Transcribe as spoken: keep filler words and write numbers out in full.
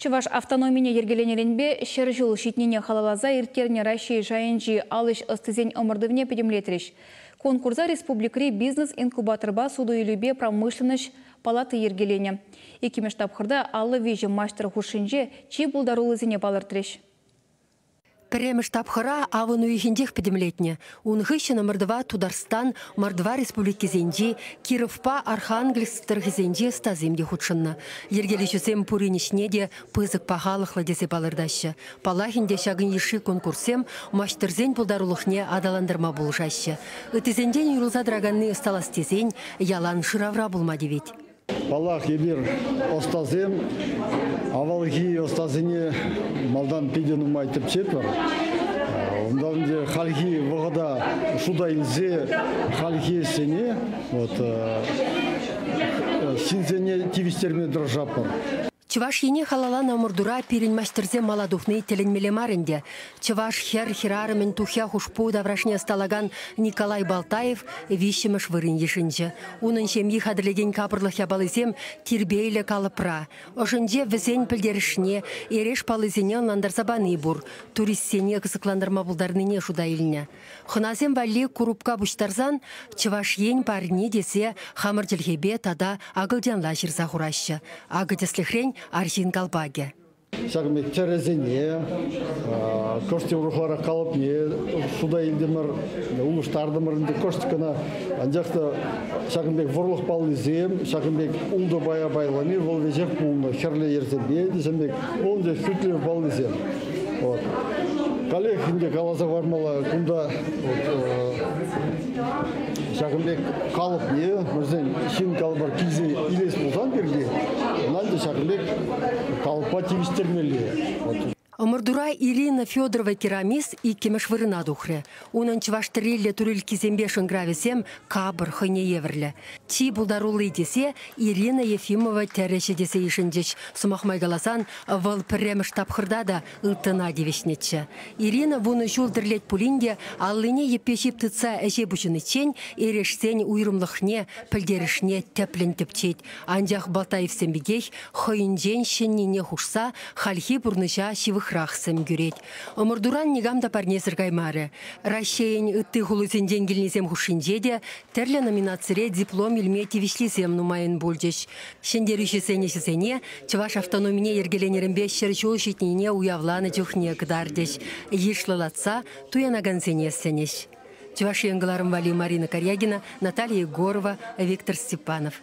Чӑваш автономине йӗркеленӗренпе ҫӗр ҫул ҫитнине халалласа ирттернӗ Раҫҫей шайӗнчи ал ӗҫ ӑстисен ӑмӑртӑвне пӗтӗмлетрӗҫ. Конкурса республикӑри бизнес-инкубаторпа суту-илӳпе промышленноҫ палати йӗркеленӗ. Иккӗмӗш тапхӑрта аллӑ виҫӗ маҫтӑр хушшинче чи пултаруллисене палӑртрӗҫ. Пӗрремӗш тапхӑра авӑн уйӑхӗнчех пӗтӗмлетнӗ. Ун хыҫҫӑн ӑмӑртӑва Тутарстан, Мордва республикисенчи, Кировпа Архангельск тӑрӑхӗсенчи ӑстасем те хутшӑннӑ. Йӗркелӳҫӗсем пурин ӗҫне те пысӑк пахалӑхлӑ тесе палӑртаҫҫӗ. Паллах ӗнтӗ ҫакӑн йышши конкурссем маҫтӑрсен пултарулӑхне аталантарма пулӑшаҫҫӗ. Ыттисенчен уйрӑлса тӑраканни ӑсталас тесен ялан шыравра пулма тивет. Паллах, эпир ӑстасем, авалхи ӑстасене малтан питӗ нумай тӗпчетпӗр. Унтан те хальхи вӑхӑта шута илсе хальхи ӗҫсене, вот, ҫынсене тивӗҫтерме тӑрӑшатпӑр. Чӑваш Ене халалланӑ ӑмӑртура пирӗн маҫтӑрсем мала тухни тӗлӗнмелле мар ӗнтӗ. Чӑваш хӗр хӗрарӑмӗн тухья хушпу таврашне ӑсталакан Николай Балтаев виҫҫӗмӗш вырӑн йышӑнчӗ. Унӑн ҫемйи хатӗрлекен капӑрлӑх япалисем тирпейлӗ калӑпра. Ӑшӗнче вӗсен пӗлтерӗшне, эреш паллисене ӑнлантарса пани пур. Туристсене кӑсӑклантарма пултарнине шута илнӗ. Хӑнасем валли курупка пуҫтарсан Чӑваш Ен парни тесе хамӑр чӗлхепе тата акӑлчанла ҫырса хураҫҫӗ. Акӑ тӗслӗхрен арҫын калпакӗ. Ҫакӑн пек тӗрӗсене, кӑшт урӑхларах калӑпне шута илтӗмӗр, улӑштартӑмӑр ӗнтӗ кӑшт кӑна. Анчах та ҫакӑн пек вӑрлӑх паллисем, ҫакӑн пек ултӑ пая пайлани вӑл веҫех пулнӑ. Хӗрлӗ йӗрсемпе те ҫакӑн пек вӑл ӗнтӗ хӳтлӗх паллисем. Вот. Каллех ӗнтӗ каласа хӑвармалла, кунта вот, ҫакӑн пек калӑпне, вӗсен ҫын калӑпӑр килсе илес пулсан пирки, ӑна ӗнтӗ ҫакӑн пек калӑппа тивӗҫтермелле. Вот. Ӑмӑртура Ирина Федорова керамист иккӗмӗш вырӑна тухрӗ. Унӑн чӑваш тӗрриллӗ турилккисемпе шӑнкӑравӗсем капӑр хӑйне евӗрлӗ. Чи пултарулли тесе Ирина Ефимова тӗрӗҫӗ тесе йышӑнчӗҫ. Сӑмах май каласан, вӑл пӗрремӗш тапхӑрта та ылтӑна тивӗҫнӗччӗ. Ирина вунӑ ҫул тӗрлет пулин те аллине йӗппе ҫип тытса ӗҫе пуҫӑниччен эрешсен уйрӑмлӑхне, пӗлтерӗшне тӗплӗн тӗпчет. Анчах Балтаевсем пекех хӑйӗнчен ҫӗннине хушса хальхи пурнӑҫа ҫывӑхрах сӗм кӳрет. Ӑмӑртуран никам та парнесӗр каймарӗ. Раҫҫейӗн ытти хулисенчен килнисем хушшинче те тӗрлӗ номинацире диплом илме тивӗҫлисем нумайӑн пулчӗҫ. Ҫӗнтерӳҫӗсен ӗҫӗсене Чӑваш автономине йӗркеленӗренпе ҫӗр ҫул ҫитнине уявланӑ чухне кӑтартӗҫ. Йышлӑлатса туянакансене сӗнӗҫ. Чӑваш Ен кӑларӑм валли Марина Карягина, Наталья Егорова, Виктор Степанов.